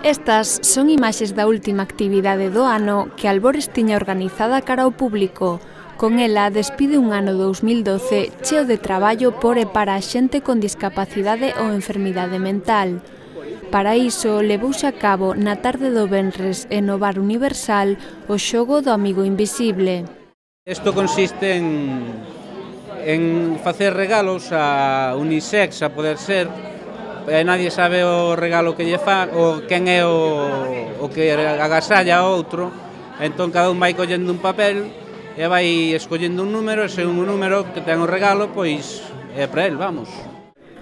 Estas son imaxes da última actividade do ano que Albores tiña organizada cara ao público. Con ela despide un ano 2012 cheo de traballo por e para a xente con discapacidade ou enfermidade mental. Para iso, levouse a cabo na tarde do venres e no Bar Universal o xogo do Amigo Invisible. Isto consiste en facer regalos a unisex, a poder ser, e nadie sabe o regalo que lle fa, ou quen é o que agasalla a outro, entón cada un vai collendo un papel e vai escollendo un número, e se un número que ten o regalo, pois é para el, vamos.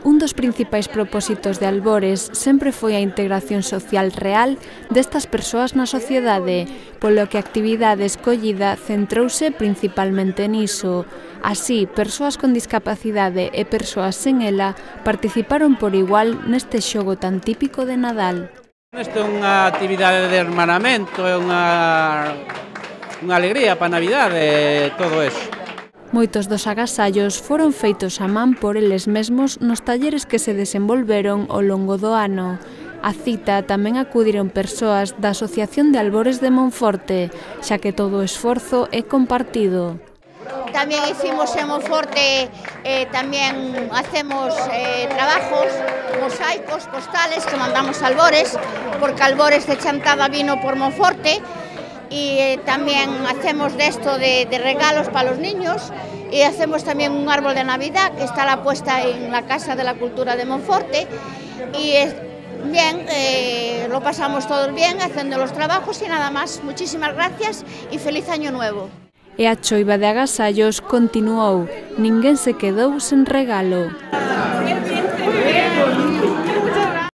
Un dos principais propósitos de Albores sempre foi a integración social real destas persoas na sociedade, polo que a actividade escollida centrouse principalmente niso. Así, persoas con discapacidade e persoas sen ela participaron por igual neste xogo tan típico de Nadal. Isto é unha actividade de hermanamento, é unha alegría para a Navidade e todo eso. Moitos dos agasallos foron feitos a man por eles mesmos nos talleres que se desenvolveron ao longo do ano. A cita tamén acudiron persoas da Asociación de Albores de Monforte, xa que todo o esforzo é compartido. Tamén hicimos en Monforte, tamén hacemos trabajos, mosaicos, postales que mandamos a Albores, porque Albores de Chantada vino por Monforte, y también hacemos de esto de regalos para los niños y hacemos también un árbol de Navidad que está la puesta en la Casa de la Cultura de Monforte y bien, lo pasamos todos bien haciendo los trabajos y nada más. Muchísimas gracias y feliz año nuevo. E a choiva de agasallos continuou, ninguén se quedou sen regalo.